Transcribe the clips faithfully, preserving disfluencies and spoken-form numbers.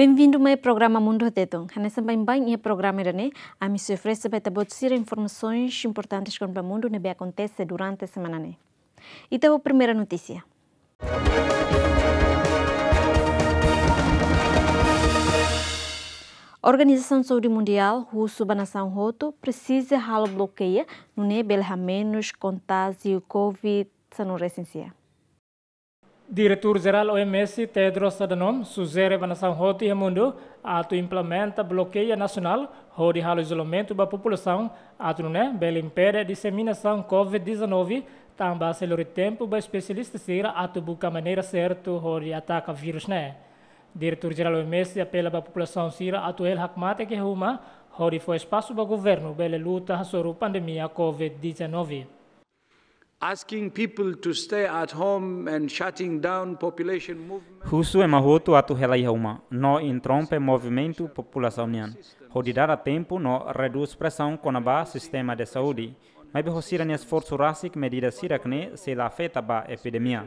Bem-vindo mai programa Mundu Hateten. Hanesan baibain iha programa ida-ne'e, ami sei oferese ba ita-boot sira informasaun importante kona-ba mundu ne'ebé akontese durante semana ne'e. Ita ho primeira notísia. Organizasaun Saúde Mundiál husu ba nasaun hotu presiza halo blokeia, nune'e bele hamenus kontájiu COVID dezanove resin sia. Diretór Jerál O M S, Tedros Adhanom, sujere ba nasaun hotu iha mundu atu implementa blokeia nasionál hodi halo izolamentu ba populasaun, atu nune'e bele impede diseminasaun COVID dezanove, tanba sei lori tempu ba espesialista sira atu buka maneira sertu hodi ataka vírus ne'e. Diretór Jerál O M S apela ba populasaun sira atu hela hakmatek iha uma, hodi fó espasu ba governu bele luta hasoru pandemia COVID dezanove. Asking people to stay at home and shutting down population movement. Husu ema hotu atu hela iha uma, no interrompe movimentu populasaun nian, hodi dada tempu no redús presaun kona-ba sistema de saúde. Maibé ho sira-nia esforsu rasik, medida sira-ne'e sei la afeta ba epidemia.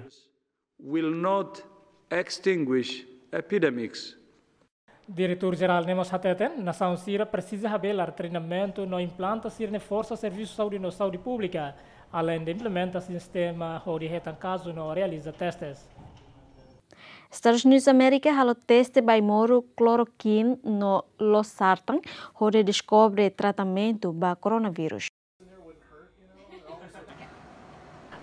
Will not extinguish epidemics. Diretór Jerál ne'e mós hateten, nasaun sira presiza habelar treinamentu no implanta sira-nia forsa servisu saúde no saúde públika, aleinde implementa sistema hodi hetan kazu no realiza testes. Estadus Unidus Amérika halo teste ba ai-moruk klorokin no losartan hodi deskobre tratamentu ba koronavírus.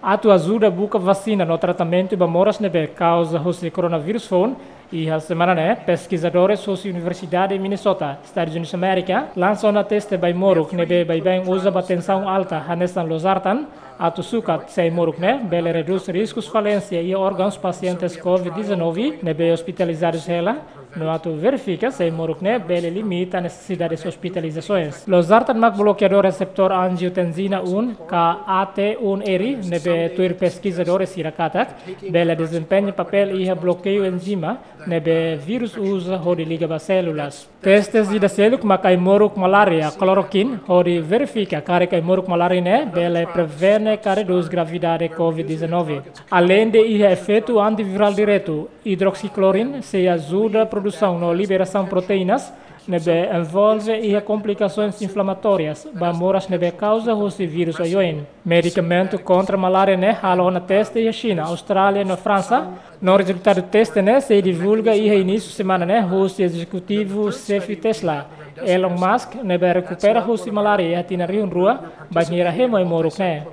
Atu ajuda buka vasina no tratamentu ba moras ne'ebé kauza husi koronavírus foun, iha semana ne'e, peskizadores husi Universidade Minnesota, Estadus Unidus Amérika, lansa ona teste ba ai-moruk ne'ebé baibain uza ba tensaun alta hanesan losartan, atu sukat se ai-moruk ne'e bele redús riskus falénsia iha órgauns pasientes COVID dezanove ne'ebé ospitalizadus hela, no atu verifika se ai-moruk ne'e bele limita nesesidades ospitalizasoens. Losartan mak blokeadór reseptór anjiotensina um, ka A T um R, ne'ebé tuir peskizadores sira katak bele dezempeña papél iha blokeiu enzima ne'ebé vírus uza hodi liga ba sélulas. Testes ida seluk mak ai-moruk malária klorokin hodi verifika karik ai-moruk malária ne'e bele prevene ka redús gravidade COVID dezanove. Aleinde iha efeitu antivirál diretu, idroksicloroquine sei ajuda produsaun no liberasaun proteínas ne'ebé envolve iha komplikasoens inflamatórias ba moras ne'ebé kauza husi vírus oioin. Medikamentu kontra malária ne'e halo ona teste iha Xina, Austrália no Fransa, no rezultadu teste ne'e sei divulga iha inísiu semana ne'e husi ezekutivu xefe Tesla, Elon Musk, ne'ebé rekupera husi malária iha tinan rihun rua, bainhira hemu ai-moruk ne'e.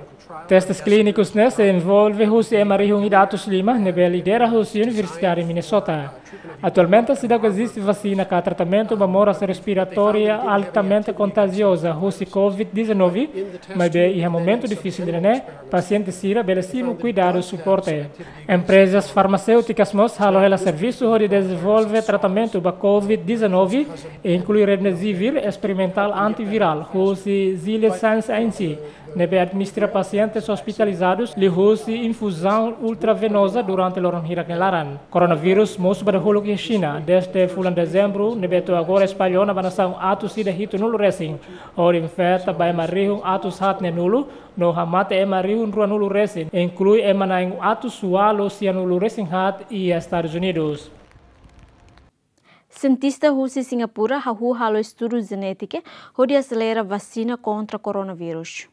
Testes klínikus ne'e sei envolve husi ema rihun ida atus lima ne'ebé lidera husi Universidade Minnesota. Atualmente seidauk eziste vasina ka tratamentu ba moras respiratória altamente kontajioza husi COVID dezanove, maibé iha momentu difisil ida-ne'e, pasiente sira bele simu kuidadu suporte. Emprezas farmaséutikas mós halo hela servisu hodi dezenvolve tratamentu ba COVID dezanove, inklui remdesivir esperimentál antivirál husi Gilead Sciences, ne'ebé administra pasientes ospitalizadus liuhusi infuzaun ultravenoza durante loron hirak nia laran. Koronavírus mosu ba dahuluk iha Xina dezde fulan Dezembru, ne'ebé to'o agora espalla ona ba nasaun atus ida hitunulu resin, hodi infeta ba ema rihun atus haat neenulu, no hamate ema rihun ruanulu resin, inklui ema na'in atus ualu sianulu resin haat iha Estadus Unidus. Sientista husi Singapura hahú halo estudu jenétika hodi aselera vasina kontra koronavírus.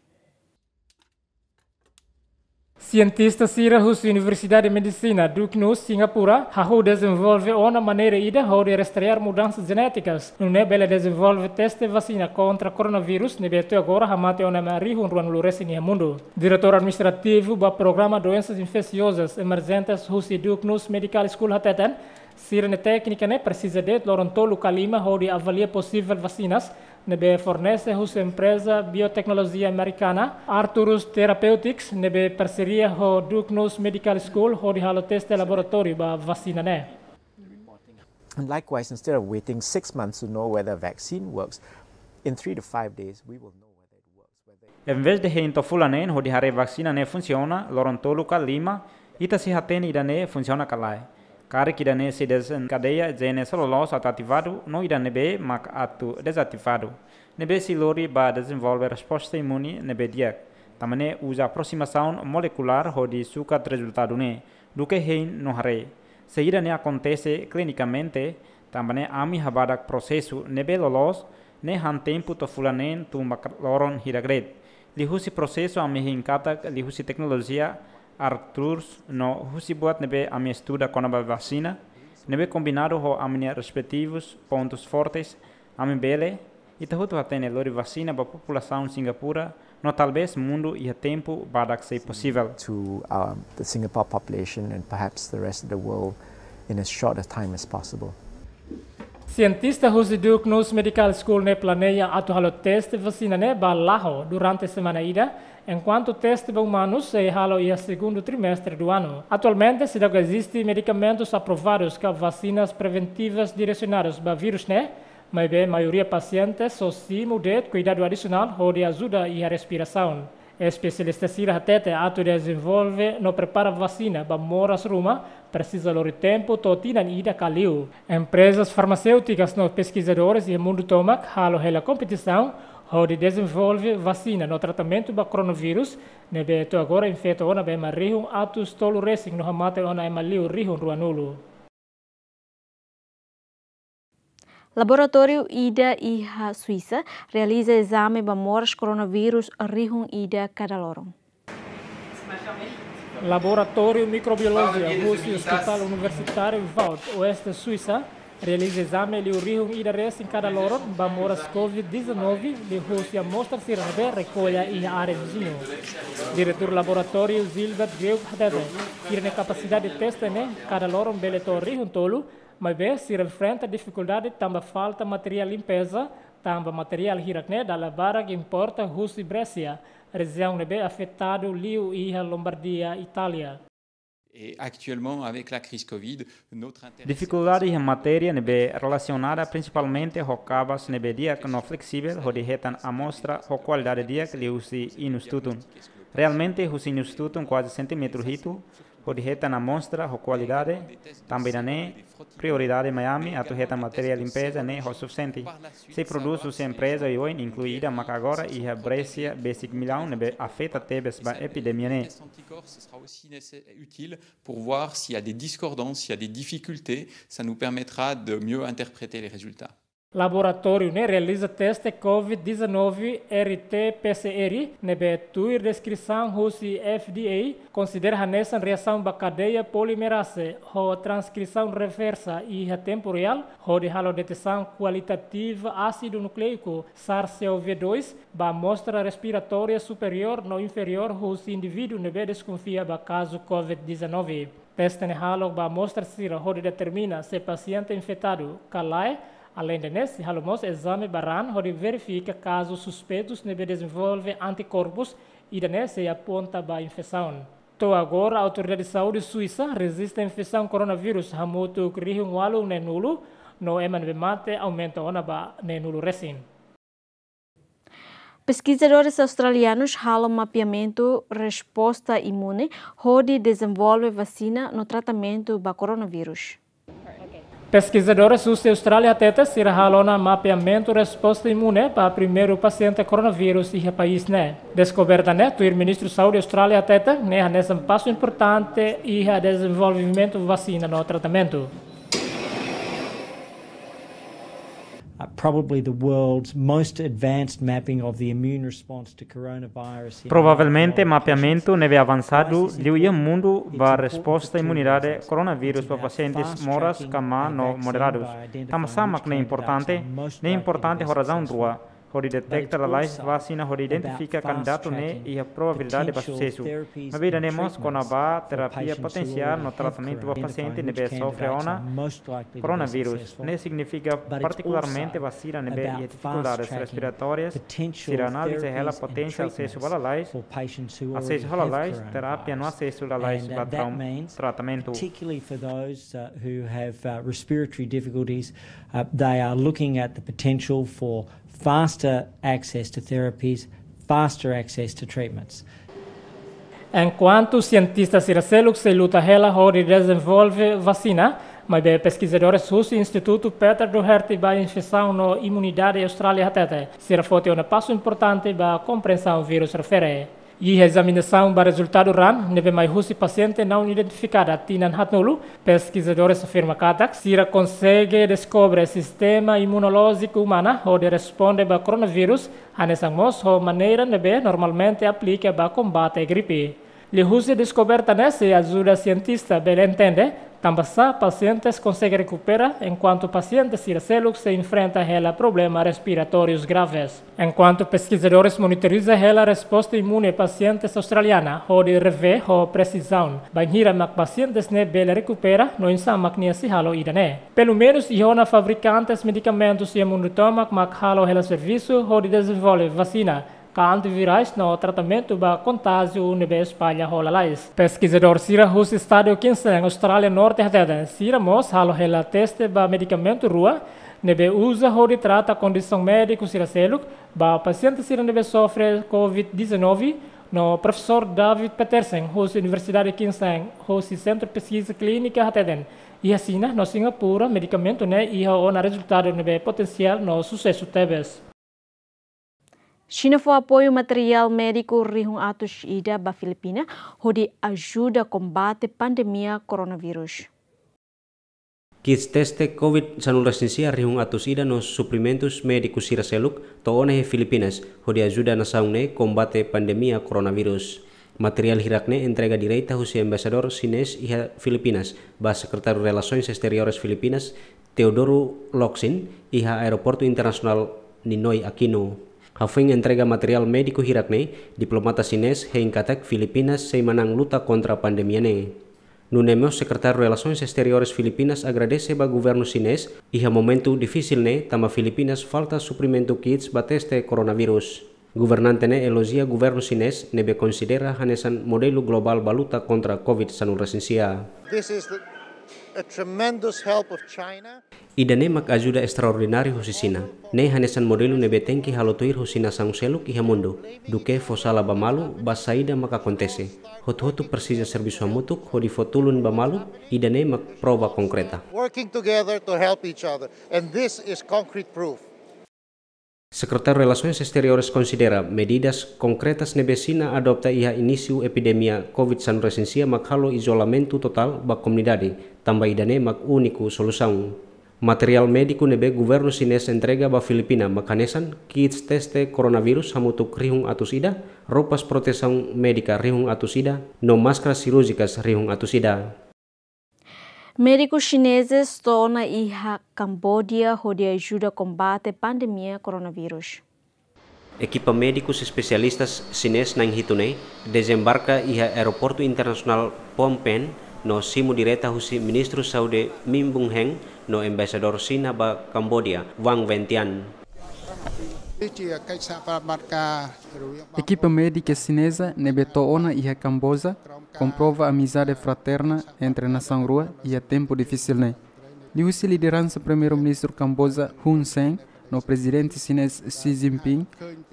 Sientista sira husi Universidade Medisina Duke Nuss, Singapura, hahú dezenvolve ona maneira ida hodi rastreia mudansa jenétikas, nune'e bele dezenvolve teste vasina kontra koronavírus, ne'ebé to'o agora hamate ona ema rihun ruanulu resin iha mundu. Diretór Administrativu ba Programa Doensas Infeziozas Emerjentes husi Duke Nuss Medical School hateten, sira-nia téknika ne'e presiza de'it loron tolu ka lima hodi avalia posivel vasinas ne'ebé fornese husi empreza bioteknolojia amerikana Arcturus Therapeutics, ne'ebé parseria ho Duke Nuss Medical School hodi halo teste laboratóriu ba vasina ne'e. And likewise, instead of waiting six months to know whether a vaccine works, in three to five days, we will know whether it works. Whether Envezde hein to'o fulan neen hodi haree vasina ne'e funsiona loron tolu ka lima, ita sei hatene ida-ne'e funsiona ka lae. Karik ida-ne'e sei dezenkadeia jene sira loloos atu ativadu no ida ne'ebé mak atu dezativadu, ne'ebé sei lori ba dezenvolve resposta imune ne'ebé di'ak. Tanba ne'e uza aprosimasaun molekulár hodi sukat rezultadu ne'e, duké hein no haree. Se ida-ne'e akontese klinikamente, Tanba ne'e ami halo badak prosesu ne'ebé loloos, ne'e han tempu to'o fulan neen tun ba loron hirak de'it. Liuhusi prosesu ami hein katak liuhusi teknolojia Arcturus no husi buat ne'ebé ami estuda kona-ba vasina, ne'ebé kombinadu ho ami-nia respeitivus pontus fortes, ami bele, ita hotu hatene, lori vasina ba populasaun Singapura no talvés mundu iha tempu badak sei posivel. To, um, the Singapore population and perhaps the rest of the world in as short a time as possible. Sientista husi Duke Nuss Medical School ne'e planeia atu halo teste vasina ne'e ba la'o durante semana ida, enkuantu teste ba umanus sei halo iha segundu trimestre do ano. Atualmente, seidauk eziste medikamentus aprovadus ka vasinas preventivas diresionadus ba vírus ne'e, maibé maioria pasiente só simu de'it kuidadu adisionál hodi ajuda iha respirasaun. Espesialista sira hatete atu dezenvolve no prepara vasina ba moras ruma presiza lori tempu to'o tinan ida ka liu. Emprezas farmaséutikas no peskizadores iha mundu tomak halo hela kompetisaun hodi dezenvolve vasina no tratamentu ba koronavírus, ne'ebé to'o agora infeta ona ba ema rihun atus tolu resin no hamate ona ema liu rihun ruanulu. Laboratóriu ida iha Suisa realiza ezame ba moras koronavírus rihun ida kada loron. Laboratóriu Mikrobiolojia husi Hospital Universitáriu Vaud, Oeste Suisa, realiza ezame liu rihun ida resin kada loron ba moras covid dezanove liuhusi amostra sira ne'ebé rekolla iha área viziñu. Diretór laboratóriu Gilbert Greuk hatete, sira-nia kapasidade teste ne'e kada loron bele to'o rihun tolu, maibé sira enfrenta difikuldade tanba falta materiál limpeza, tanba materiál hirak ne'e dala barak importa husi Brézia, rejiaun ne'ebé afetadu liu iha Lombardia, Itália. Et actuellement, avec la crise covid, notre intérêt... Difikuldade iha matéria ne'ebé relasionada prinsipalmente ho kabas ne'ebé di'ak no fleksivel hodi hetan amostra ho kualidade di'ak liuhusi inus tutun. Realmente, husi inus tutun kuaze sentímetru hitu, hodi hetan amostra ho kualidade, tanba ida-ne'e prioridade mai ami atu hetan materiál limpeza ne'e ho sufisiente. Sei prodús husi empreza oioin, inklui ida maka agora iha Brézia besik Milão ne'ebé afeta tebes ba epidemia ne'e. Test anticorps, ce sera aussi nécessaire, utile pour voir s'il y a des discordances, s'il y a des difficultés, ça nous permettra de mieux interpréter les résultats. Laboratóriu ne'e realiza teste covid dezanove R T P C R, ne'ebé tuir deskrisaun husi F D A, konsidera hanesan reasaun ba kadeia polimerase ho transkrisaun reversa iha tempu reál, hodi halo detesaun kualitativa ásidu nukleiku SARS-C o V dois ba amostra respiratória superiór no inferiór husi indivíduu ne'ebé deskonfia ba kazu covid dezanove. Teste ne'e halo ba amostra sira hodi determina se pasiente infetadu ka lae, aleinde ne'e sei halo mós ezame ba raan hodi verifika kazu suspeitus ne'ebé dezenvolve antikorpus, ida-ne'e sei aponta ba infesaun. To'o agora, Autoridade Saúde Suisa rejista infesaun koronavírus hamutuk rihun ualu neenulu, no ema ne'ebé mate aumenta ona ba neenulu resin. Peskizadores australianus halo mapeamentu resposta imune hodi dezenvolve vasina no tratamentu ba koronavírus. Peskizadores husi Austrália hatete sira halo ona mapeamentu resposta imune ba primeiru pasiente koronavírus iha país ne'e. Deskoberta ne'e, tuir Ministru Saúde Austrália hatete, ne'e hanesan pasu importante iha dezenvolvimentu vasina no tratamentu. Uh, probably the world's most advanced mapping of the immune response to coronavirus in Provavelmente mapeamentu ne'ebé avansadu liu iha mundu ba resposta imunidade koronavírus ba pasientes moras ka maun no moderadus. Tanba sá mak ne'e importante? Ne'e importante ho razaun rua. Hodi deteta lalais vasina hodi identifika kandidatu ne'e iha probabilidade ba susesu. Maibé ida-ne'e mós kona-ba terapia potensiál no tratamentu ba pasiente ne'ebé sofre ona koronavírus. Ne'e signifika partikularmente ba sira ne'ebé iha difikuldades respiratórias, sira analiza hela potensiál asesu ba lalais, asesu ho lalais, terapia no asesu lalais ba traum-, tratamentu. Particularly for those, uh, who have, uh, respiratory difficulties, uh, they are looking at the potential for faster access to therapies, faster access to treatments. Enkuantu sientista sira seluk sei luta hela hodi dezenvolve vasina, maibé peskizadores husi Institutu Peter Doherty ba Infesaun no Imunidade Austrália hatete, sira foti ona pasu importante ba komprensaun vírus refere. Iha ezaminasaun ba rezultadu raan ne'ebé mai husi pasiente naun identifikada tinan haatnulu, peskizadores afirma katak sira konsege deskobre sistema imunolójiku umana hodi responde ba koronavírus, hanesan mós ho maneira ne'ebé normalmente aplika ba kombate gripe. Liuhusi deskoberta ne'e sei ajuda sientista bele entende tanbasá pasientes konsege rekupera, enkuantu pasiente sira seluk sei enfrenta hela problema respiratórius graves. Enkuantu peskizadores monitoriza hela resposta imune pasientes australiana hodi revee ho presizaun bainhira mak pasientes ne'e bele rekupera no oinsá mak nia sei halo ida-ne'e. Pelumenus iha ona fabrikantes medikamentus iha mundu tomak mak halo hela servisu hodi dezenvolve vasina ka antivirais no tratamentu ba kontájiu ne'ebé espalla ho lalais. Peskizadór sira husi estadu Queensland, Austrália Norte hateten sira mós halo hela teste ba medikamentu rua ne'ebé uza hodi trata kondisaun médiku sira seluk ba pasiente sira ne'ebé sofre covid dezanove, no Profesór David Petersen husi Universidade Queensland husi Sentru Peskiza Klínika hateten iha Xina no Singapura medikamentu ne'e iha ona rezultadu ne'ebé potensiál no susesu tebes. Xina fó apoiu materiál médiku rihun atus ida ba Filipina hodi ajuda kombate pandemia koronavírus. Kits teste covid sanulu-resin-sia rihun atus ida no suprimentus médiku sira seluk to'o ona iha Filipinas hodi ajuda nasaun ne'e kombate pandemia koronavírus. Materiál hirak ne'e entrega direta husi Embaixadór Xinés iha Filipinas ba Sekretáriu Relasoens Exteriores Filipinas, Teodoro Locsin, iha Aeroportu Internasionál Ninoy Aquino. Hafoin entrega materiál médiku hirak ne'e, diplomata Xinés hein katak Filipinas sei manán luta kontra pandemia ne'e. Nune'e mós Sekretáriu Relasoens Exteriores Filipinas agradese ba governu Xinés iha momentu difisil ne'e tanba Filipinas falta suprimentu kits ba teste koronavírus. Governante ne'e elojia governu Xinés ne'ebé konsidera hanesan modelu globál ba luta kontra covid sanulu-resin-sia. This is a tremendous help of China. Ida-ne'e mak ajuda estraordináriu husi Xina. Ne'e hanesan modelu ne'ebé tenke halo tuir husi nasaun seluk iha mundu. Duké fó sala ba malu, ba saida mak akontese. Hotu-hotu presiza servisu hamutuk hodi fó tulun ba malu, ida-ne'e mak prova konkreta. Working together to help each other, and this is concrete proof. Sekretáriu Relasoens Exteriores konsidera medidas konkretas ne'ebé Xina adopta iha inísiu epidemia covid sanulu-resin-sia mak halo izolamentu totál ba komunidade, tanba ida-ne'e mak úniku solusaun. Materiál médiku ne'ebé governu Xinés entrega ba Filipina mak hanesan kits teste koronavírus hamutuk rihun atus ida, roupas protesaun médika rihun atus ida, no máskaras sirúrjikas rihun atus ida. Médikus xinezes to'o ona iha Kambodia hodi ajuda kombate pandemia koronavírus. Ekipa médikus espesialistas xinés na'in hitu ne'e dezembarka iha Aeroportu Internasionál Phnom Penh no simu direta husi Ministru Saúde Min Bun Heng no Embaixadór Xina ba Kambodia, Wang Wentian. Ekipa médika xineza ne'ebé to'o ona iha Kamboja komprova amizade fraterna entre nasaun rua iha tempu difisil ne'e. Liuhusi lideransa Primeiru-Ministru Kamboja Hun Sen no Prezidente xinés Xi Jinping,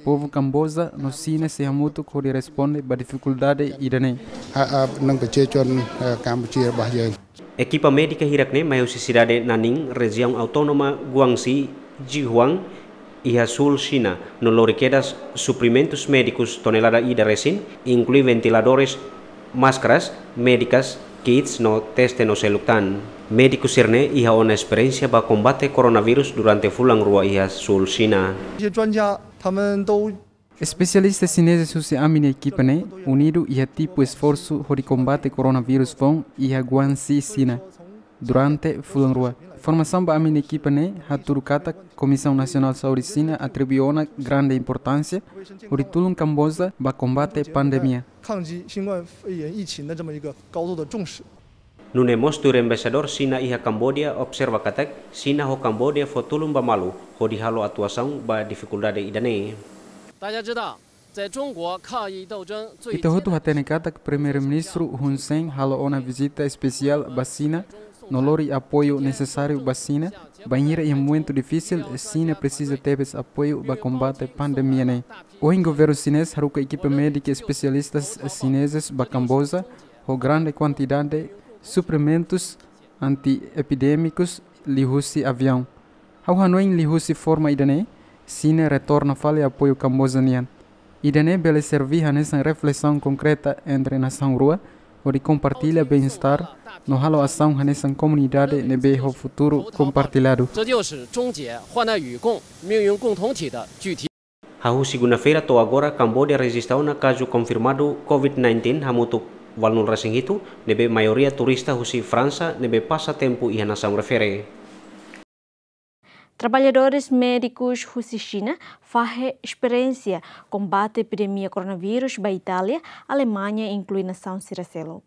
povu Kamboja no Xina sei hamutuk hodi responde ba difikuldade ida-ne'e. Ha, ha, nang pece con, eh, Kamboja bah ya. Ekipa médika hirak ne'e mai husi sidade Nanning, Rejiaun Autónoma Guangxi, Jihuang, iha súl Xina, no lori kedas suprimentus médikus tonelada ida resin, inklui ventiladores, máskaras médikas, kits no teste no seluk tan. Médikus sira-ne'e iha ona esperiénsia ba kombate koronavírus durante fulan rua iha súl Xina. 这些专家他们都 Espesialista xinezes husi ami-nia ekipa ne'e unidu iha tipu esforsu hodi kombate koronavírus foun iha Guangxi, Xina, durante fulan rua. Formasaun ba ami-nia ekipa ne'e hatudu katak Komisaun Nasionál Saúde Xina atribui ona grande importánsia hodi tulun Kamboja ba kombate pandemia. 抗击新冠肺炎疫情的这么一个高度的重视。 Nune'e mós tuir Embaixadór Xina iha Kambodia observa katak Xina ho Kambodia fó tulun ba malu hodi halo atuasaun ba difikuldade ida-ne'e. 大家知道，在中国抗疫斗争最艰难的时期， Ita hotu hatene katak Primeiru-Ministru Hun Sen halo ona vizita espesiál ba Xina no lori apoiu nesesáriu ba Xina, bainhira iha momentu difisil Xina presiza tebes apoiu ba kombate pandemia ne'e. Ohin governu xinés haruka ekipa médika espesialistas xinezes ba Kamboja ho grande kuantidade suprimentus antiepidémikus liuhusi aviaun. Ha'u hanoin liuhusi forma ida-ne'e, Xina retorna fali apoiu Kamboja nian. Ida-ne'e bele serví hanesan reflesaun konkreta entre nasaun rua, hodi kompartilla bem-estar, no halo asaun hanesan komunidade ne'ebé ho futuru kompartilladu. 这就是终结患难与共、命运共同体的具体。 Hahú segunda-feira to'o agora, Kamboja rejista ona kazu konfirmadu covid nineteen hamutuk ualunulu resin hitu, ne'ebé maioria turista husi Fransa, ne'ebé pasa tempu iha nasaun refere. Traballadores médikus husi Xina fahe esperiénsia kombate epidemia koronavírus ba Itália, Alemaña, inklui nasaun sira seluk.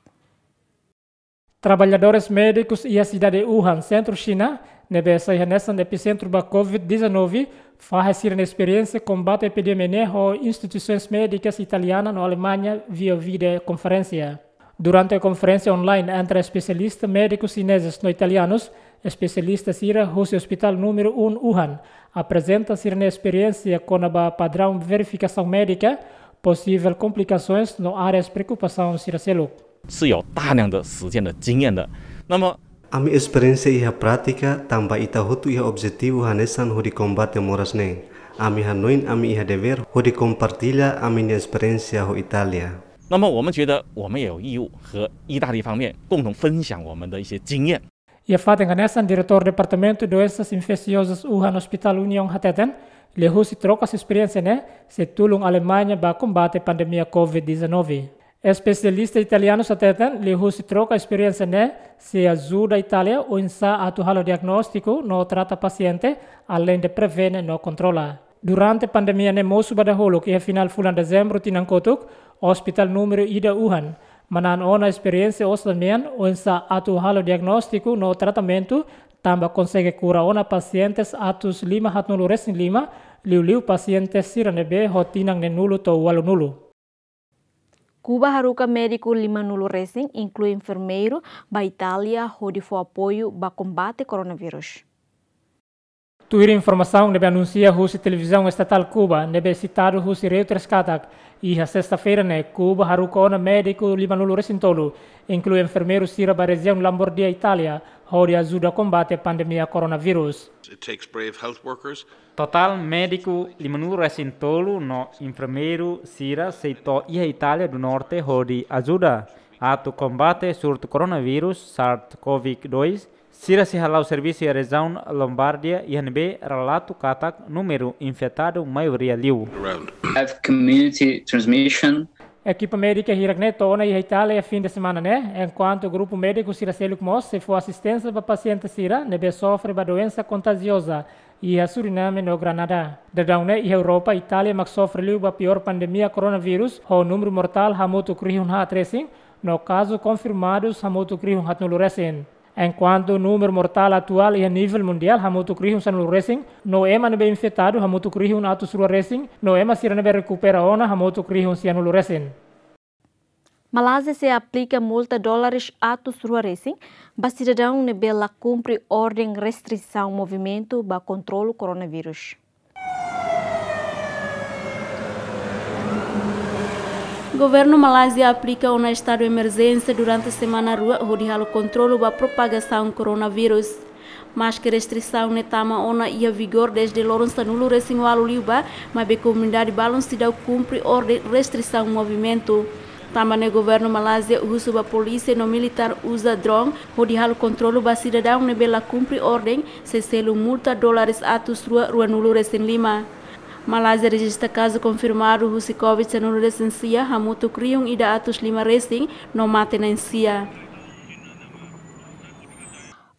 Traballadores médikus iha sidade Wuhan, sentru Xina, ne'ebé sai hanesan episentru ba covid dezanove, fahe sira-nia esperiénsia kombate epidemia ne'e ho instituisoens médikas italiana no Alemaña via videokonferénsia. Durante konferénsia online entre espesialista médikus xinezes no italianus, espesialista sira husi Hospital Númeru Um Wuhan aprezenta sira-nia esperiénsia kona-ba padraun verifikasaun médika, posivel komplikasoens no áreas preokupasaun sira seluk. 是有大量的实践的经验的。那么 Ami esperiénsia iha prátika, tanba ita hotu iha objetivu hanesan hodi kombate moras ne'e. Ami hanoin ami iha devér hodi kompartilla ami-nia esperiénsia ho Itália. 那么我们觉得我们也有义务和意大利方面共同分享我们的一些经验。 Iha fatin hanesan, Diretór Departamentu Doensas Infesiozas Wuhan Hospital Union hateten, liuhusi troka esperiénsia ne'e sei tulun Alemaña ba kombate pandemia covid dezanove. Espesialista italianus hateten, liuhusi troka esperiénsia ne'e sei ajuda Itália oinsá atu halo diagnóstiku no trata pasiente, aleinde prevene no kontrola. Durante pandemia ne'e mosu ba dahuluk iha final fulan Dezembru tinan kotuk, Hospital Númeru Ida Wuhan manán ona esperiénsia osan mean oinsá atu halo diagnóstiku no tratamentu, tanba konsege kura ona pasientes atus lima haatnulu resin lima, liuliu pasientes sira ne'ebé ho tinan neenulu to'o ualunulu. Kuba haruka médiku limanulu resin, inklui enfermeiru, ba Itália hodi fó apoiu ba kombate koronavírus. Tuir informasaun ne'ebé anunsia husi televizaun estatál Kuba, ne'ebé sitadu husi Reuters katak, iha sesta-feira ne'e Kuba haruka ona médiku limanulu resin tolu, inklui enfermeiru sira, ba rejiaun Lombardia, Itália, hodi ajuda kombate pandemia koronavírus. It takes brave health workers. Totál médiku limanulu resin tolu no enfermeiru sira sei to'o iha Itália do Norte hodi ajuda atu kombate surtu koronavírus SARS-CoV dois. Sira sei hala'o servisu iha rejiaun Lombardia, iha ne'ebé relatu katak númeru infetadu maioria liu. Around. Have community transmission. Ekipa médika hirak ne'e to'o ona iha Itália fin de semana ne'e, enkuantu grupu médiku sira seluk mós sei fó asisténsia ba pasiente sira ne'ebé sofre ba doensa kontajioza iha Suriname no Granada. Daudaun ne'e iha Europa, Itália mak sofre liu ba piór pandemia koronavírus, ho númeru mortál hamutuk rihun haat resin, no kazu konfirmadus hamutuk rihun haatnulu resin. Enkuantu númeru mortál atuál iha nivel mundiál hamutuk rihun sanulu resin, no ema ne'ebé infetadu hamutuk rihun atus rua resin, no ema sira ne'ebé rekupera ona hamutuk rihun sianulu resin. Malázia sei aplika multa dólares atus rua resin ba sidadaun ne'ebé la kumpre orden restrisaun movimentu ba kontrolu koronavírus. Governu Malázia aplika ona estadu emerjénsia durante semana rua hodi halo kontrolu ba propagasaun koronavírus. Maske restrisaun ne'e tama ona iha vigór dezde loron sanulu resin ualu liubá, maibé komunidade balun seidauk kumpre orden restrisaun movimentu. Tanba ne'e governu Malázia husu ba polísia no militár uza drone hodi halo kontrolu ba sidadaun ne'ebé la kumpre orden, sei selu multa dólares atus rua ruanulu resin lima. Malázia rejista kazu konfirmadu husi covid sanulu resin sia hamutuk rihun ida atus lima resin, no mate na'in sia.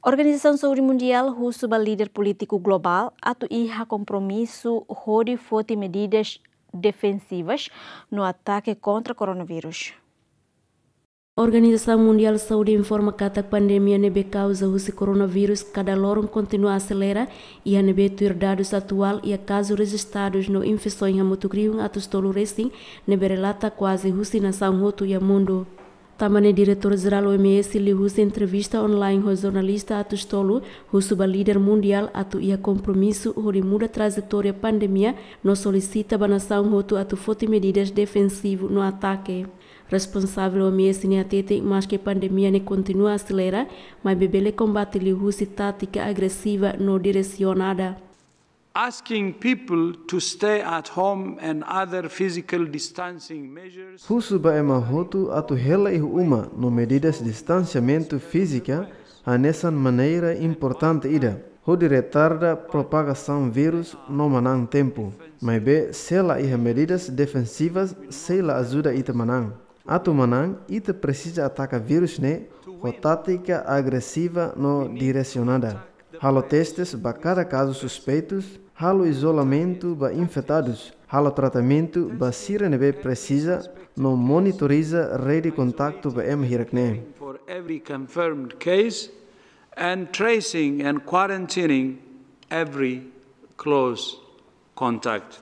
Organizasaun Saúde Mundiál husu ba líder polítiku globál atu iha kompromisu hodi foti medidas defensivas no atake kontra koronavírus. Organizasaun Mundiál Saúde informa katak pandemia ne'ebé kauza husi koronavírus kada loron kontinua aselera, iha ne'ebé tuir dadus atuál iha kazu rejistadus no infesoin hamutuk rihun atus tolu resin, ne'ebé relata kuaze husi nasaun hotu iha mundu. Tanba ne'e Diretór Jerál O M S liuhusi entrevista online ho jornalista atus tolu, husu ba líder mundiál atu iha kompromisu hodi muda trajetória pandemia no solisita ba nasaun hotu atu foti medidas defensivu no atake. Responsavel O M S ne'e hatete, maske pandemia ne'e kontinua aselera, maibé bele kombate liuhusi tátika agresiva no diresionada. asking people to stay at home and other physical distancing measures. Husu ba ema hotu atu hela iha uma no medidas distansiamentu fízika hanesan maneira importante ida hodi retarda propagasaun vírus no manán tempu. Maibé, se la iha medidas defensivas, sei la ajuda ita manán. Atu manán, ita presiza ataka vírus ne'e ho tátika agresiva no diresionada. Halo testes ba kada kazu suspeitus, halo izolamentu ba infetadus, halo tratamentu ba sira ne'ebé presiza, no monitoriza rede kontaktu ba ema hirak ne'e. For every confirmed case and tracing and quarantining every close contact.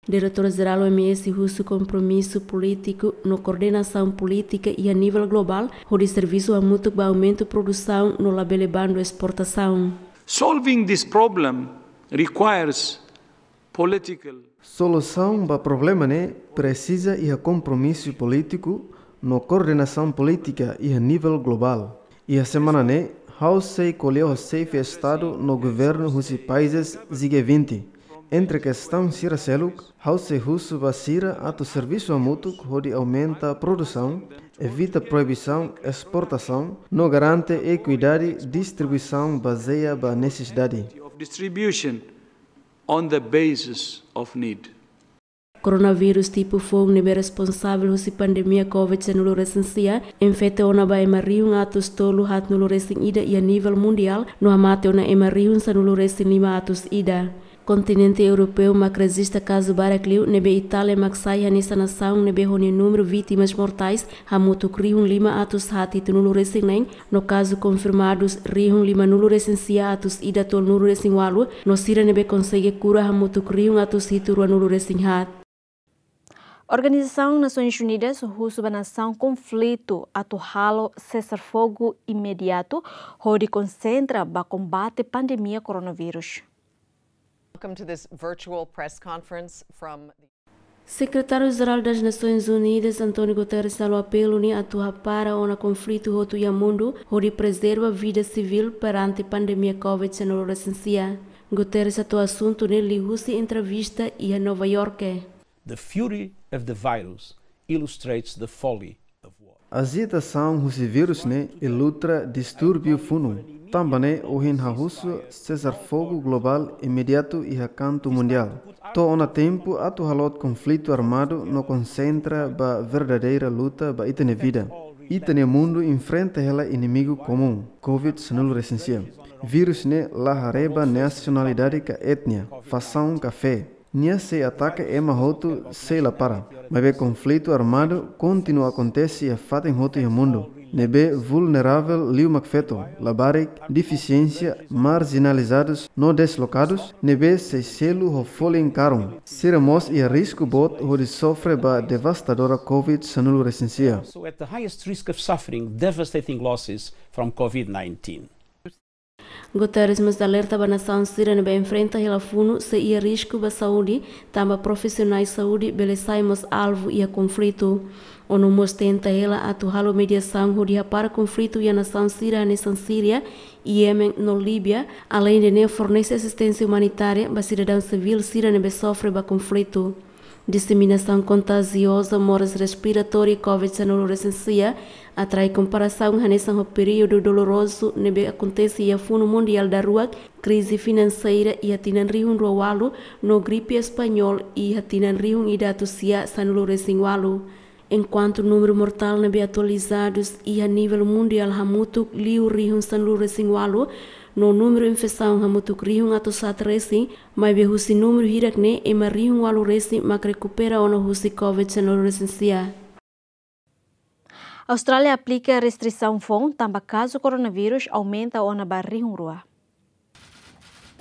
Diretór Jerál O M S husu kompromisu polítiku no koordenasaun polítika iha nivel globál, hodi servisu hamutuk ba aumentu produsaun no labele bandu esportasaun. Solving this problem requires political. Solusaun ba problema ne'e presiza iha kompromisu polítiku no koordenasaun polítika iha nivel globál. Iha semana ne'e, ha'u sei ko'alia ho xefe Estadu no governu husi países G vinte. Entre kestaun sira seluk, ha'u sei husu ba sira atu servisu hamutuk hodi aumenta produsaun, evita proibisaun esportasaun, no garante ekuidade distribuisaun bazeia ba nesesidade. Of distribution on the basis of need. Koronavírus tipu foun ne'ebé responsavel husi pandemia COVID sanulu resin sia, infeta ona ba ema rihun atus tolu haatnulu resin ida iha nivel mundiál, no hamate ona ema rihun sanulu resin lima atus ida. Kontinente Europeu mak rejista kazu barak liu, ne'ebé Itália mak sai hanesan nasaun ne'ebé ho nia númeru vítimas mortais hamutuk rihun lima atus haat hitunulu resin neen, no kazu konfirmadus rihun limanulu resin sia atus ida tolunulu resin ualu, no sira ne'ebé konsege kura hamutuk rihun atus hitu ruanulu resin haat. Organizasaun Nasoins Unidas husu ba nasaun konflitu atu halo sesar fogu imediatu hodi konsentra ba kombate pandemia koronavírus. Welcome to this virtual press conference from the Sekretáriu Jerál das Nações Unidas, António Guterres, halo apelu nia atu hapara ona konflitu hotu iha mundu, hodi prezerva vida sivíl perante pandemia COVID sanulu resin sia. Guterres hato'o asuntu ne'e liuhusi entrevista iha Nova Iorke. The fury of the virus illustrates the folly of war. Ajitasaun husi vírus ne'e ilustra distúrbiu funu. Tanba ne'e ohin ha'u husu sesar fogu globál imediatu iha kantu mundiál. To'o ona tempu atu halot konflitu armadu no konsentra ba verdadeira luta ba ita-nia vida. Ita-nia mundu enfrenta hela inimigu komún, COVID sanulu resin sia. Vírus ne'e la haree ba nasionalidade ka etnia, fasaun ka fé. Nia sei ataka ema hotu sei la para. Maibé konflitu armadu kontinua akontese iha fatin hotu iha mundu. Ne'ebé vulneravel liu mak feto, labarik, defisiénsia, marjinalizadus no deslokadus, ne'ebé sei selu ho folin karun. Sira mós iha risku boot hodi sofre ba devastadora COVID sanulu resin sia. So at the highest risk of suffering devastating losses from COVID nineteen. Guterres mós alerta ba nasaun sira ne'ebé enfrenta hela funu sei iha risku ba saúde, tanba profisionais saúde bele sai mós alvu iha konflitu. ONU mós tenta hela atu halo mediasaun hodi hapara konflitu iha nasaun sira hanesan Síria, Iémen no Líbia, aleinde ne'e fornese asisténsia umanitária ba sidadaun sivíl sira ne'ebé sofre ba konflitu. Diseminasaun kontajioza moras respiratória COVID sanulu resin sia atrai komparasaun hanesan ho períodu dolorozu ne'ebé akontese iha funu mundiál daruak, krize finanseira iha tinan rihun rua ualu, no gripe español iha tinan rihun ida atus sia sanulu resin ualu. Enkuantu númeru mortál ne'ebé atualizadus iha nivel mundiál hamutuk liu rihun sanulu resin ualu, no númeru infesaun hamutuk rihun atus haat resin, maibé husi númeru hirak ne'e ema rihun ualu resin mak rekupera ona husi COVID sanulu resin sia. Austrália aplika restrisaun foun tanba kazu koronavírus aumenta ona ba rihun rua.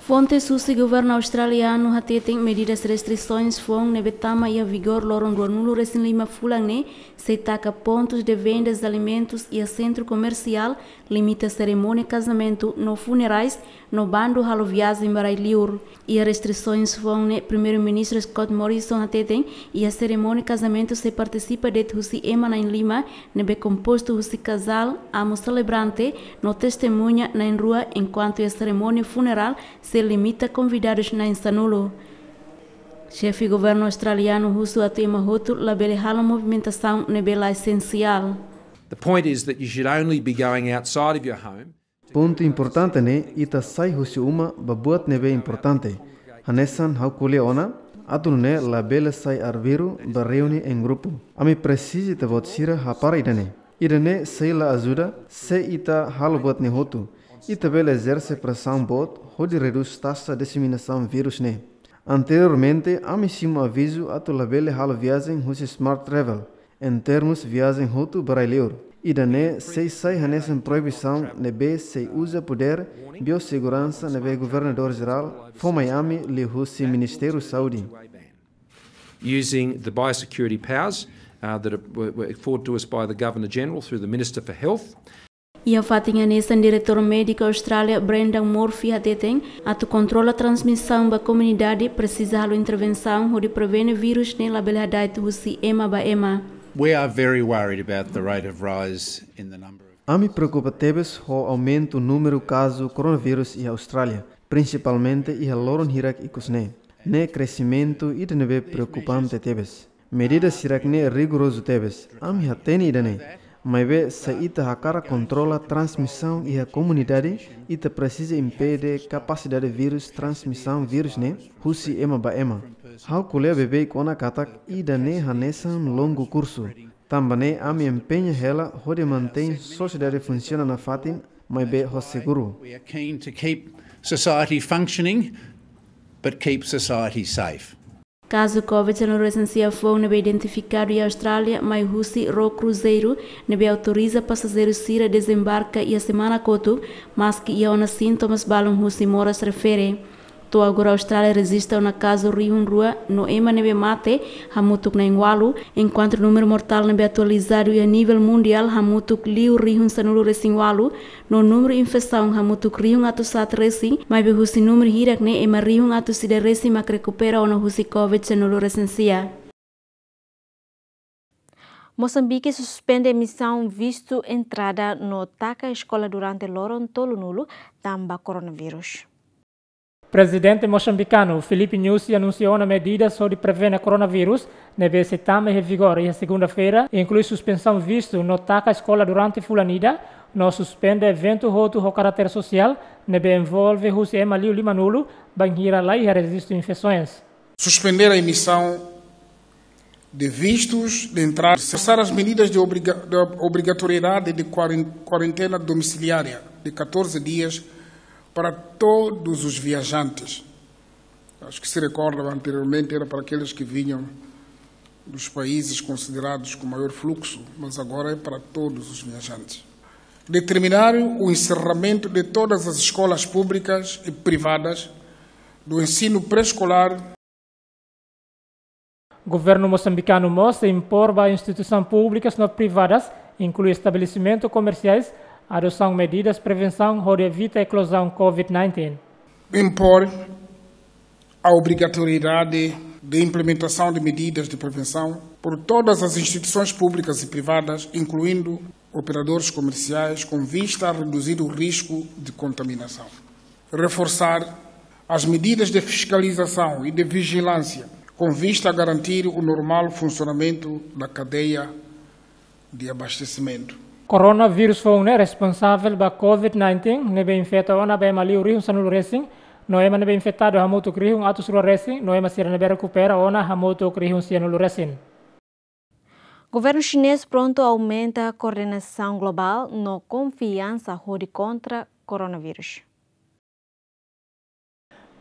Fontes husi governu australianu hateten medidas restrisaun foun ne'ebé tama iha vigór loron ruanulu resin lima fulan ne'e sei taka pontus de vendas de alimentus iha sentru komersiál, limita serimónia kazamentu no funerais, no bandu halo viajen ba rai-liur. Iha restrisaun foun ne'e, Primeiru-Ministru Scott Morrison hateten, iha serimónia kazamentu sei partisipa de'it husi ema na'in lima, ne'ebé kompostu husi kazál, amu selebrante, no testemuña na'in rua, enkuantu iha serimónia funerál, limita konvidadus na'in sanulu. Xefe governu australianu husu atu ema hotu labele halo movimentasaun ne'ebé la esensiál. The point is that you should only be going outside of your home. Pontu importante ne'e, ita sai husi uma ba buat ne'ebé importante. Hanesan ha'u ko'alia ona, atu nune'e labele sai arbiru ba reúne em grupu. Ami presiza ita-boot sira hapara ida-ne'e. Ida-ne'e sei la ajuda se ita halo buat ne'e hotu. Ita bele ezerse presaun boot hodi redús taxa diseminasaun vírus ne'e. Anteriormente, ami simu avizu atu labele halo viajen husi Smart Travel, em termos viajen hotu ba rai-liur. Ida-ne'e sei sai hanesan proibisaun ne'ebé sei uza podér bioseguransa ne'ebé Governadór Jerál fó mai ami liuhusi Ministériu Saúde. Using the biosecurity powers, uh, that are, were, were afforded to us by the Governor General through the Minister for Health. Iha fatin hanesan, Diretór Médiku Austrália, Brendan Murphy, hateten atu kontrola transmisaun ba komunidade presiza halo intervensaun hodi prevene vírus ne'e labele hada'et husi ema ba ema. We are very worried about the rate of rise in the number of... Ami preokupa tebes ho aumentu númeru kazu koronavírus iha Austrália, prinsipalmente iha loron hirak ikus ne'e. Ne'e kresimentu ida ne'ebé preokupante tebes. Medida sira-ne'e rigorozu tebes. Ami hatene ida-ne'e. Maibé, se ita hakarak kontrola transmisaun iha komunidade, ita presiza impede kapasidade vírus transmisaun vírus ne'e husi ema ba ema. Ha'u ko'alia beibeik ona katak ida-ne'e hanesan longu kursu. Tanba ne'e ami empeña hela hodi mantein sosiedade funsiona nafatin, maibé ho seguru. We are keen to keep society functioning, but keep society safe. Kazu COVID sanulu resin sia foun ne'ebé identifikadu iha Austrália mai husi ró kruzeiru ne'ebé autoriza pasajeiru sira dezembarka iha semana kotuk, maski iha ona sintomas balun husi moras refere. To'o agora Austrália rejista ona kazu rihun rua no ema ne'ebé mate hamutuk na'in ualu, enkuantu númeru mortál ne'ebé atualizadu iha nivel mundiál hamutuk liu rihun sanulu resin ualu, no númeru infesaun hamutuk rihun atus haat resin, maibé husi númeru hirak-ne'e ema rihun atus ida resin mak rekupera ona husi COVID sanulu resin sia. Mosambike suspende emisaun vistu entrada no taka eskola durante loron tolunulu tanba koronavírus. Prezidente mosambikanu Filipe Nyusi anunsia ona medidas hodi prevene koronavírus ne'ebé sei tama iha vigór iha segunda-feira, inklui suspensaun vistu no taka eskola durante fulan ida, no suspende eventu hotu ho karáter sosiál ne'ebé envolve husi ema liu limanulu, bainhira laiha rejistu infesoens. Suspender a emissão de vistos de entrada, reforçar as medidas de obriga-, de obrigatoriedade de quaren-, quarentena domiciliária de catorze dias para todos os viajantes. Acho que se recorda, anteriormente era para aqueles que vinham dos países considerados com maior fluxo, mas agora é para todos os viajantes. Determinar o encerramento de todas as escolas públicas e privadas do ensino pré-escolar. Governu mosambikanu mós sei impor ba instituisaun públikas no privadas, inklui estabelesimentu komersiais, adosaun medidas prevensaun hodi evita eklozaun COVID nineteen. Impor a obrigatoriedade de implementação de medidas de prevenção por todas as instituições públicas e privadas, incluindo operadores comerciais, com vista a reduzir o risco de contaminação. Reforçar as medidas de fiscalização e de vigilância, com vista a garantir o normal funcionamento da cadeia de abastecimento. Koronavírus foun ne'e responsavel ba COVID nineteen, ne'ebé infeta ona ba ema liu rihun sanulu resin, no ema ne'ebé infetadu hamutuk rihun atus rua resin, no ema sira ne'ebé rekupera ona hamutuk rihun sianulu resin. Governu xinés prontu aumenta koordenasaun globál no konfiansa hodi kontra koronavírus.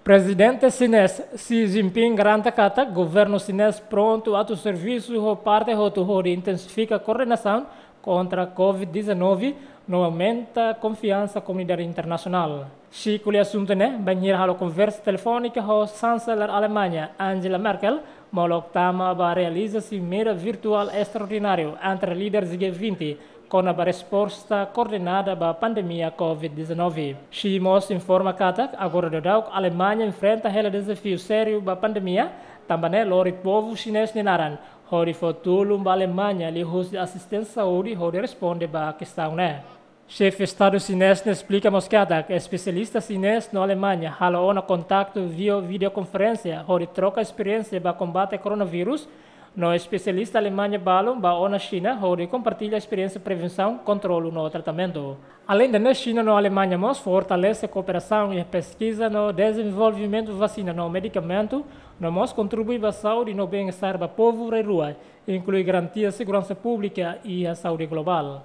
Prezidente xinés Xi Jinping garante katak governu xinés prontu atu servisu ho parte hotu hodi intensifika koordenasaun kontra COVID dezanove, no aumenta konfiansa komunidade internasionál. Xi ko'alia asuntu ne'e bainhira halo konversa telefónika ho Chanceler Alemaña, Angela Merkel, molok tama ba realiza simeira virtuál estraordináriu entre líderes G vinte, kona-ba resposta koordenada ba pandemia COVID dezanove. Xi mós informa katak agora daudauk Alemaña enfrenta hela dezafiu sériu ba pandemia, tanba ne'e lori povu xinés nia naran hodi fó tulun ba Alemaña liuhusi asisténsia saúde hodi responde ba kestaun ne'e. Xefe Estadu xinés ne'e esplika mós katak espesialista xinés no Alemaña halo ona kontaktu via videokonferénsia hodi troka esperiénsia ba kombate koronavírus, no espesialista Alemaña balun ba ona Xina hodi kompartilla esperiénsia prevensaun, kontrolu no tratamentu. Aleinde ne'e, Xina no Alemaña mós fortalese kooperasaun iha peskiza no dezenvolvimentu vasina no medikamentu, no mós kontribui ba saúde no bem-estar ba povu rai-rua, inklui garantia seguransa públika iha saúde globál.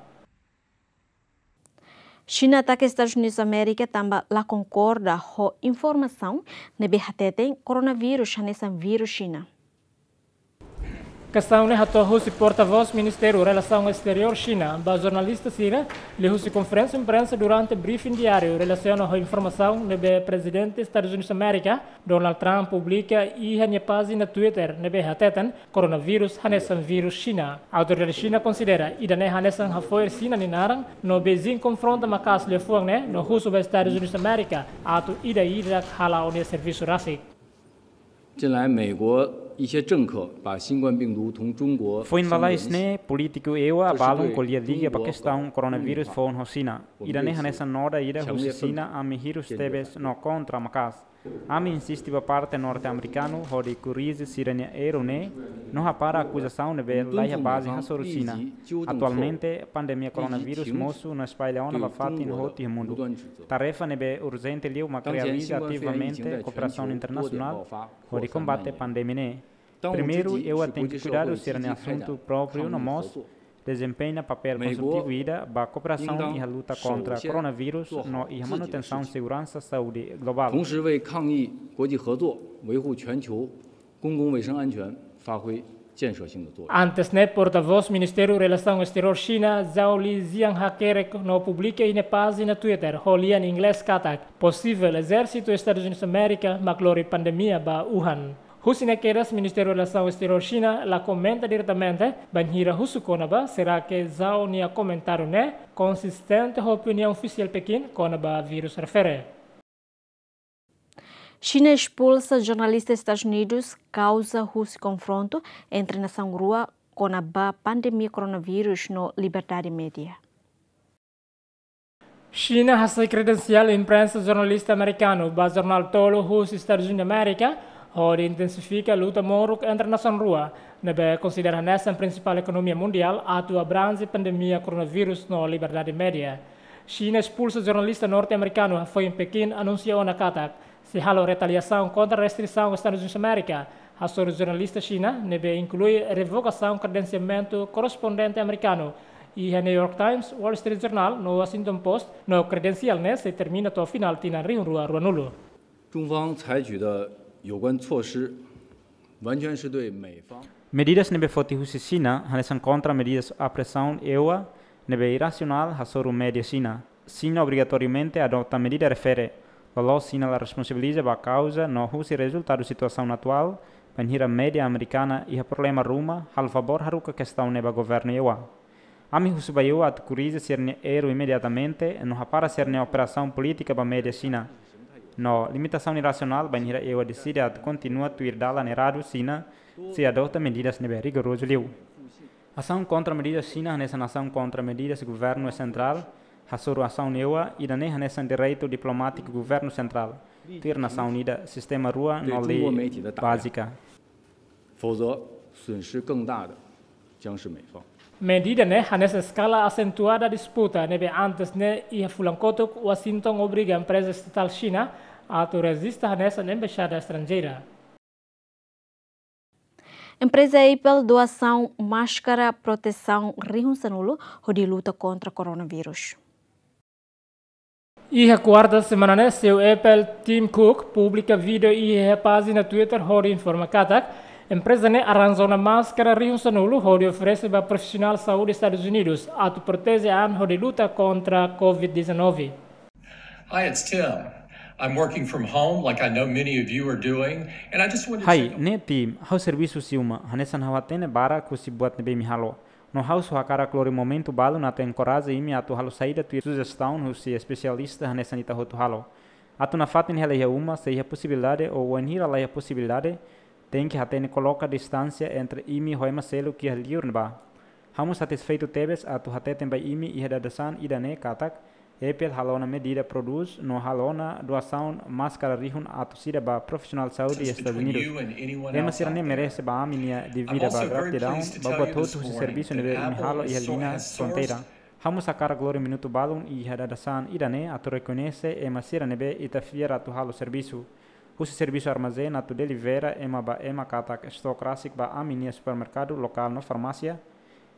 Xina ataka Estadus Unidus Amérika tanba la konkorda ho informasaun ne'ebé hateten koronavírus hanesan vírus Xina. Kestaun ne'e hato'o husi portavós Ministériu Relasaun Esteriór Xina ba jornalista sira liuhusi konferénsia imprensa durante briefing diáriu relasiona ho informasaun ne'ebé Prezidente Estadus Unidus Amérika, Donald Trump, publika iha nia pájina Twitter ne'ebé hateten koronavírus hanesan vírus Xina. Autoridade Xina konsidera ida-ne'e hanesan hafo'er Xina nia naran, no Beijing konfronta maka'as liafuan ne'e no husu ba Estadus Unidus Amérika atu ida-idak hala'o nia servisu rasik. 近来，美国一些政客把新冠病毒同中国相联系。 Foin lalais ne'e, polítiku ewa balun ko'alia liga ba kestaun koronavírus foun ho Xina. Ida-ne'e hanesan noda ida husi Xina ami hirus tebes no kontra maka'as. Ami insiste ba parte norte-amerikanu hodi korrije sira-nia erru ne'e, no hapara akuzasaun ne'ebé laiha baze hasoru Xina. Atualmente, pandemia koronavírus mosu no espalla ona ba fatin hotu iha mundu. Tarefa ne'ebé urjente liu mak realiza ativamente kooperasaun internasionál hodi kombate pandemia ne'e. Primeiru, ewa tenke kuidadu sira-nia asuntu própriu no mós dezempeña papél konstrutivu ida ba kooperasaun iha luta kontra koronavírus no iha manutensaun seguransa saúde globál. 同时为抗疫国际合作、维护全球公共卫生安全发挥建设性的作用。 Antes ne'e, portavós Ministériu Relasaun Esteriór Xina, Zhao Lijian, hakerek no publika iha nia pájina Twitter ho lian inglés katak posivel ezérsitu Estadus Unidus Amérika mak lori pandemia ba Wuhan. Husi ne'e kedas, Ministériu Relasaun Esteriór Xina la komenta diretamente bainhira husu kona-ba será ke Zhao nia komentáriu ne'e konsistente ho opiniaun ofisiál Pekin kona-ba vírus refere. Xina espulsa jornalista Estadus Unidus kauza husi konfrontu entre nasaun rua kona-ba pandemia koronavírus no liberdade média. Xina hasai kredensiál imprensa jornalista amerikanu ba jornál tolu husi Estadus Unidus Amérika, hodi intensifika luta moruk entre nasaun rua, ne'ebé konsidera hanesan prinsipál ekonomia mundiál atu abranje pandemia koronavírus no liberdade média. Xina espulsa jornalista norte-amerikanu hafoin Pekin anunsia ona katak sei halo retaliasaun kontra restrisaun Estadus Unidus Amérika hasoru jornalista Xina, ne'ebé inklui revokasaun kredensiamentu korrespondente amerikanu iha New York Times, Wall Street Journal no Washington Post, no kredensiál ne'e sei termina to'o finál tinan rihun rua ruanulu. 中方采取的有关措施，完全是对美方 Medidas ne'ebé foti husi Xina hanesan kontra medidas opresaun ewa ne'ebé irrasionál hasoru média Xina. Xina obrigatoriamente adota medida refere, loloos Xina la responsabiliza ba kauza no husi rezultadu situasaun atuál, bainhira média amerikana iha problema ruma, halo favór haruka kestaun ne'e ba governu ewa. Ami husu ba ewa atu korrije sira-nia erru imediatamente, no hapara sira-nia operasaun polítika ba média Xina. No limitasaun irrasionál bainhira ewa deside atu kontinua tuir dalan erradu Xina, sei adota medidas ne'ebé rigorozu liu. Asaun kontra medidas Xina hanesan asaun kontra medidas governu sentrál hasoru asaun ewa, ida-ne'e hanesan direitu diplomátiku governu sentrál, tuir nasaun ida, sistema rua no lei bázika. 否则，损失更大的将是美方。 Medida ne'e hanesan eskala asentuada disputa ne'ebé antes ne'e iha fulan kotuk Washington obriga empreza estatál Xina atu rejista hanesan embaixada estranjeira. Empreza Apple doasaun máskara protesaun rihun sanulu hodi luta kontra koronavírus. Iha kuarta semana ne'e, CEO Apple, Tim Cook, publika vídeo iha pájina Twitter hodi informa katak empreza ne'e arranja ona máskara rihun sanulu hodi oferese ba profisionál saúde Estadus Unidus atu proteje an hodi luta kontra covid dezanove. Hi, it's Tim. I'm working from home, like I know many of you are doing, and I just wanted to Hai, ne'e Tim, ha'u servisu husi uma, hanesan ha'u hatene barak husi buat ne'ebé imi halo. No ha'u só hakarak lori momentu balun atu enkoraja imi atu halo saida tuir sujestaun husi espesialista hanesan ita hotu halo. Atu nafatin hela iha uma, se iha posibilidade ou wainhira laiha posibilidade, tenke hatene koloka distánsia entre imi ho ema seluk iha li'ur ne'ebá. Ha'u mós satisfeitu tebes atu hateten ba imi iha dadeer-saan ida-ne'e katak Apple halo ona medida prodús no halo ona doasaun máskara rihun atus ida ba profisionál saúde iha Estadus Unidus. Ema sira-ne'e merese ba ami-nia devida ba gratidaun ba buat hotu husi servisu ne'ebé imi halo iha liña fronteira. Ha'u mós hakarak lori minutu balun iha dadeer-saan ida-ne'e atu rekoñese ema sira ne'ebé ita fiar atu halo servisu. Husi servisu armazén atu delivera ema ba ema katak estok rasik ba ami-nia supermerkadu lokál no farmásia,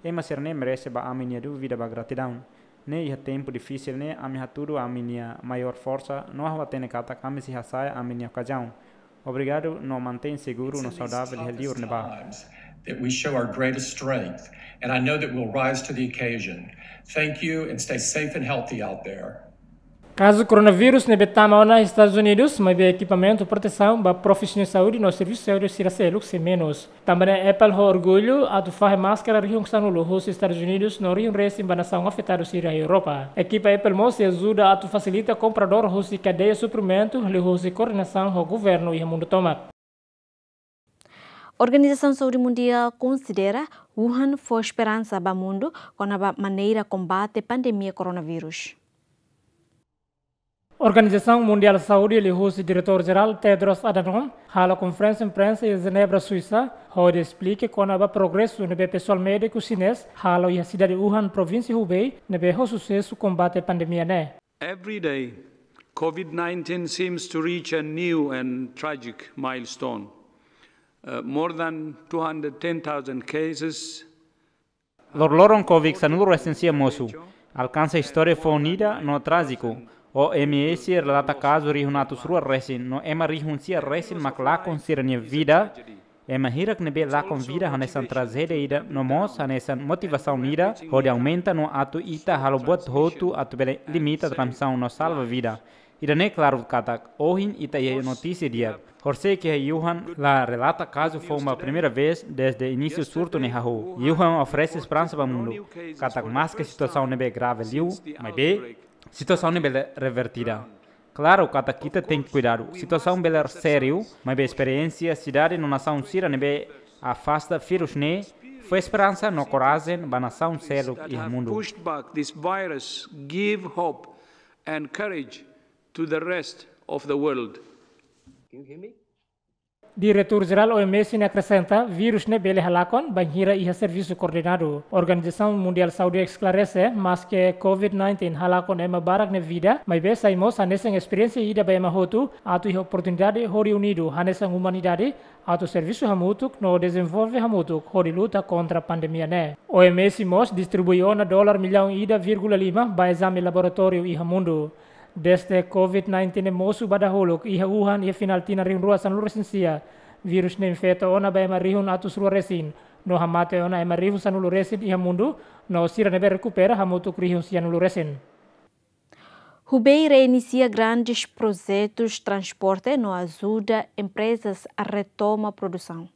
ema sira-ne'e merese ba ami-nia devida ba gratidaun. Ne'e iha tempu difisil ne'e ami hatudu ami-nia maiór forsa no ha'u hatene katak ami sei hasa'e ami-nia okazaun. Obrigadu no mantein seguru no saudável iha liur ne'ebá. That we show our greatest strength, and I know that we'll rise to the occasion. Thank you and stay safe and healthy out there. Kazu koronavírus ne'ebé tama ona Estadus Unidus, maibé ekipamentu protesaun ba profisionál saúde no servisu saúde sira seluk sei menus. Tanba ne'e Apple ho orgullu atu fahe máskara rihun sanulu husi Estadus Unidus no rihun resin ba nasaun afetadu sira iha Europa. Ekipa Apple mós sei ajuda atu fasilita kompradór husi kadeia suprimentu liuhusi koordenasaun ho governu iha mundu tomak. Organizasaun Saúde Mundiál konsidera Wuhan fó esperansa ba mundu kona-ba maneira kombate pandemia koronavírus. Organizasaun Mundiál Saúde liuhusi Diretór Jerál Tedros Adhanom halo konferénsia imprensa iha Jenebra, Suisa, hodi esplika kona-ba progresu ne'ebé pesoál médiku xinés halo iha sidade Wuhan, provínsia Hubei, ne'ebé ho susesu kombate pandemia ne'e. Every day, COVID nineteen seems to reach a new and tragic milestone. Uh, more than two hundred ten thousand cases. Loroloron COVID sanulu resin sia mosu, alkansa istória foun ida no trájiku. OMS relata kazu rihun atus rua resin no ema rihun sia resin mak lakon sira-nia vida. Ema hirak ne'ebé lakon vida hanesan trajédia ida no mós hanesan motivasaun ida hodi aumenta no atu ita halo buat hotu atu bele limita transmisaun no salva vida. Ida-ne'e klaru katak ohin ita iha notísia di'ak. Horisehik iha Wuhan la relata kazu foun ba primeira vez desde inísiu surtu ne'e hahú. Wuhan oferese esperansa ba mundu katak maske situasaun ne'ebé grave liu, maibé situasaun ne'e bele revertida. Klaru katak ita tenke kuidadu. Situasaun bele sériu, maibé esperiénsia sidade no nasaun sira ne'ebé afasta vírus ne'e fó esperansa no korajen ba nasaun seluk iha mundu. Pushed back this virus give hope and courage to the rest of the world. Diretór Jerál OMS ne'e akresenta, vírus ne'e bele halakon bainhira iha servisu koordenadu. Organizasaun Mundiál Saúde esklarese, maske COVID nineteen halakon ema barak nia vida, maibé sai mós hanesan esperiénsia ida ba ema hotu atu iha oportunidade hodi unidu hanesan umanidade atu servisu hamutuk no dezenvolve hamutuk hodi luta kontra pandemia ne'e. OMS mós distribui ona dolar millaun ida vírgula lima ba ezame laboratóriu iha mundu. Desde COVID nineteen ne'e mosu ba dahuluk iha Wuhan iha final tinan rihun rua sanulu resin sia, vírus ne'e infeta ona ba ema rihun atus rua resin, no hamate ona ema rihun sanulu resin iha mundu, no sira ne'ebé rekupera hamutuk rihun sianulu resin. Hubei reinisia grandes projetus transporte no ajuda emprezas a retoma produsaun.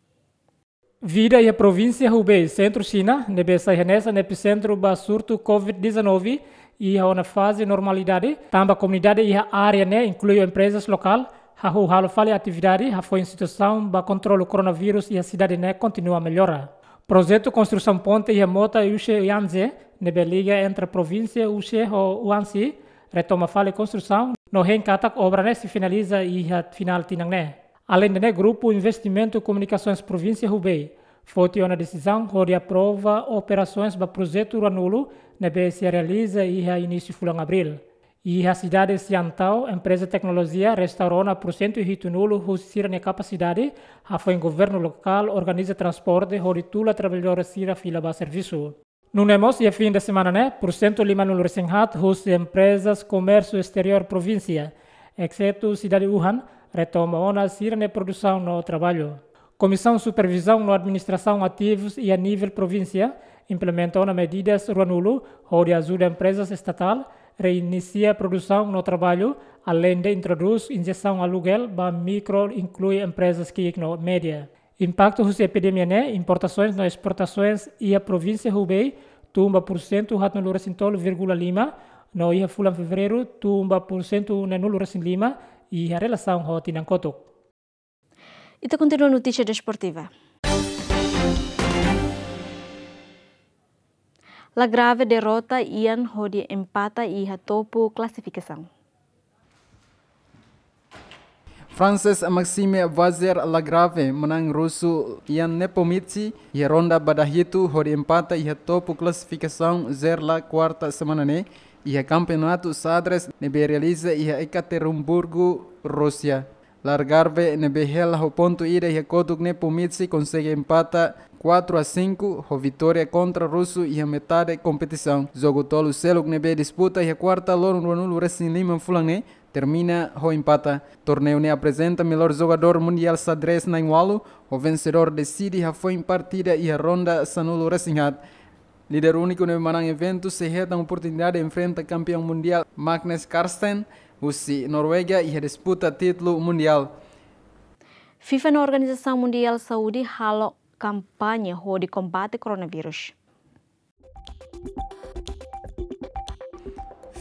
Vida iha provínsia Hubei, sentru Xina, ne'ebé sai hanesan epicentro ba surtu COVID dezanove, iha ona faze normalidade, tanba komunidade iha área ne'e, inklui emprezas lokál, hahú halo fali atividade, hafoin situasaun ba kontrolu koronavírus iha sidade ne'e kontinua mellora. Projetu konstrusaun ponte iha mota Yushe Yangtze, ne'ebé liga entre provínsia Yushe ho Huangshi, retoma fali konstrusaun, no hein katak obra ne'e sei finaliza iha final tinan ne'e. Aleinde ne'e, Grupu Investimentu Komunikasoens Provínsia Hubei foti ona desizaun hodi aprova operasoens ba projetu ruanulu ne'ebé sei realiza iha inísiu fulan Abríl. Iha sidade Xiantao, empreza teknolojia restaura ona pursentu hitunulu husi sira-nia kapasidade, hafoin governu lokál organiza transporte hodi tula traballadór sira fila ba servisu. Nune'e mós iha fin de semana ne'e, pursentu limanulu resin haat husi emprezas komérsiu esteriór provínsia, exetu sidade Wuhan, retoma ona sira-nia produsaun no traballu. Komisaun Supervizaun no Administrasaun Ativus iha nivel provínsia implementa ona medidas ruanulu hodi ajuda emprezas estatál reinisia produsaun no traballu, aleinde introdús injesaun alugel ba mikro, inklui emprezas ki'ik no média. Impaktu husi epidemia ne'e, importasoens no esportasoens iha provínsia Hubei tun ba pursentu haatnulu resin tolu vírgula lima, no iha fulan Fevereiru tun ba pursentu neenulu resin lima, iha relasaun ho tinan kotuk. Ita kontinua notísia desportiva. Lagrave derrota Ian hodi empata iha topu klasifikasaun. Frances Maxime Vazer Lagrave manán rusu Ian Nepomniachtchi iha ronda ba dahitu hodi empata iha topu klasifikasaun Zerla kuarta semana ne'e iha kampeonatu xadrez ne'ebé realiza iha Ekaterimburgu, Rúsia. Lagrave ne'ebé hela ho pontu ida iha kotuk Nepomniachtchi konsege empata quatro a cinco ho vitória kontra rusu iha metade kompetisaun. Jogu tolu seluk ne'ebé disputa iha kuarta loron ruanulu resin lima fulan ne'e termina ho empata. Torneiu ne'e aprezenta melhor jogadór mundiál xadrez na'in-ualu ho vensedór deside hafoin partida iha ronda sanulu resin haat. Líder úniku ne'ebé manán eventu sei hetan oportunidade enfrenta kampeaun mundiál Magnus Carlsen husi Noruega iha disputa títulu mundiál. FIFA no Organizasaun Mundiál Saúde halo kampaña hodi kombate koronavírus.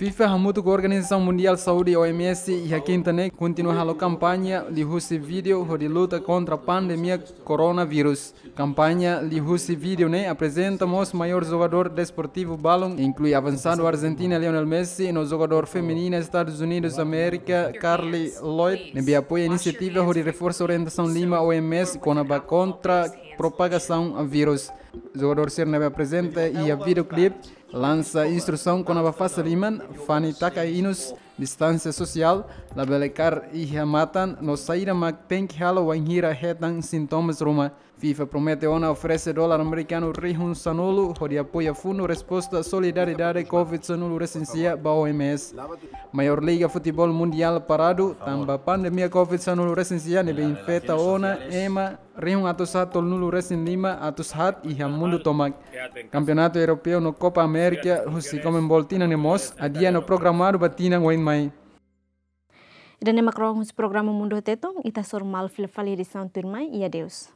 FIFA hamutuk ho Organizasaun Mundiál Saúde, O M S, iha kinta ne'e kontinua halo kampaña liuhusi vídeo hodi luta kontra pandemia koronavírus. Kampaña liuhusi vídeo ne'e aprezenta mós maiór jogadór desportivu balun, inklui avansadu Arjentina Lionel Messi no jogadór feminina Estadus Unidus Amérika Carli Lloyd, ne'ebé apoia inisiativa hodi reforsa orientasaun lima O M S kona-ba kontra propagasaun vírus. Jogadór sira ne'ebé aprezenta iha videoclip lansa instrusaun kona-ba fase liman, fani taka inus, distánsia sosiál, labele kaer iha matan no saida mak tenke halo wainhira hetan sintomas ruma. FIFA promete ona oferese dolar amerikanu rihun sanulu hodi apoia Fundu Resposta Solidariedade covid sanulu resin sia ba O M S. Maiór liga futeból mundiál paradu tanba pandemia covid sanulu resin sia ne'ebé infeta ona ema rihun atus haat tolunulu resin lima atus haat iha mundu tomak. Kampeonatu Europeu no Copa América husi Conmebol tinan ne'e mós adia no programadu ba tinan oin mai. Ida-ne'e mak rohan husi programa Mundu Tetun, ita hasoru malu fila fali edisaun tuirmai, i adeus.